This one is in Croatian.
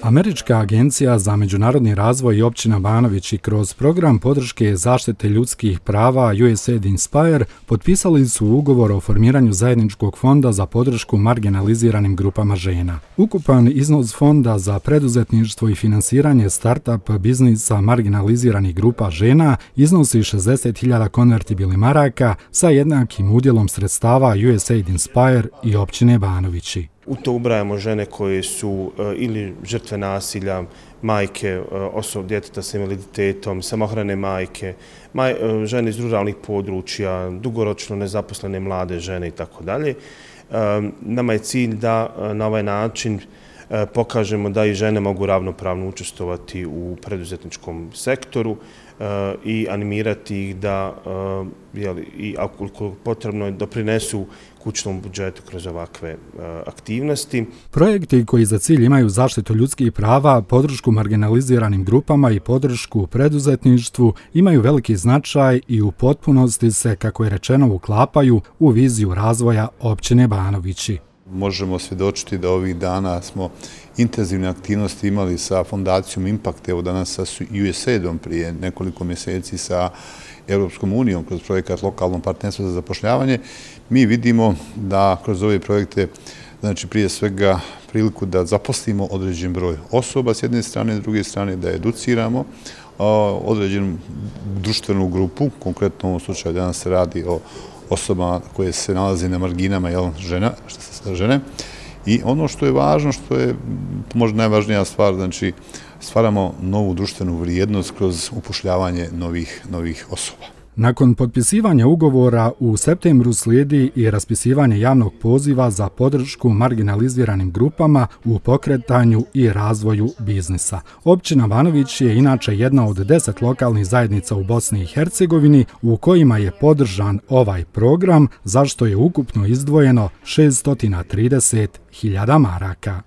Američka agencija za međunarodni razvoj i općina Banovići kroz program podrške zaštite ljudskih prava USAID Inspire potpisali su ugovor o formiranju zajedničkog fonda za podršku marginaliziranim grupama žena. Ukupan iznos fonda za preduzetništvo i finansiranje start-up biznisa marginaliziranih grupa žena iznosi 60.000 konvertibilnih maraka sa jednakim udjelom sredstava USAID Inspire i općine Banovići. U to ubrajamo žene koje su ili žrtve nasilja, majke, djeteta sa invaliditetom, samohrane majke, žene iz ruralnih područja, dugoročno nezaposlene mlade žene itd. Nama je cilj da na ovaj način pokažemo da i žene mogu ravnopravno učestvovati u preduzetničkom sektoru i animirati ih da, i ako potrebno, doprinesu kućnom budžetu kroz ovakve aktivnosti. Projekti koji za cilj imaju zaštitu ljudskih prava, podršku marginaliziranim grupama i podršku preduzetništvu imaju veliki značaj i u potpunosti se, kako je rečeno, uklapaju u viziju razvoja općine Banovići. Možemo svjedočiti da ovih dana smo intenzivne aktivnosti imali sa fondacijom Impact, evo danas sa USAID-om prije nekoliko mjeseci sa Europskom unijom kroz projekat Lokalno partnerstvo za zapošljavanje. Mi vidimo da kroz ove projekte, znači prije svega priliku da zaposlimo određen broj osoba s jedne strane, s druge strane da educiramo određenu društvenu grupu, konkretno u ovom slučaju danas se radi o osobama koje se nalaze na marginama, žene. I ono što je važno, što je možda najvažnija stvar, znači stvaramo novu društvenu vrijednost kroz upošljavanje novih osoba. Nakon potpisivanja ugovora u septembru slijedi i raspisivanje javnog poziva za podršku marginaliziranim grupama u pokretanju i razvoju biznisa. Općina Banović je inače jedna od 10 lokalnih zajednica u Bosni i Hercegovini u kojima je podržan ovaj program, za što je ukupno izdvojeno 630.000 maraka.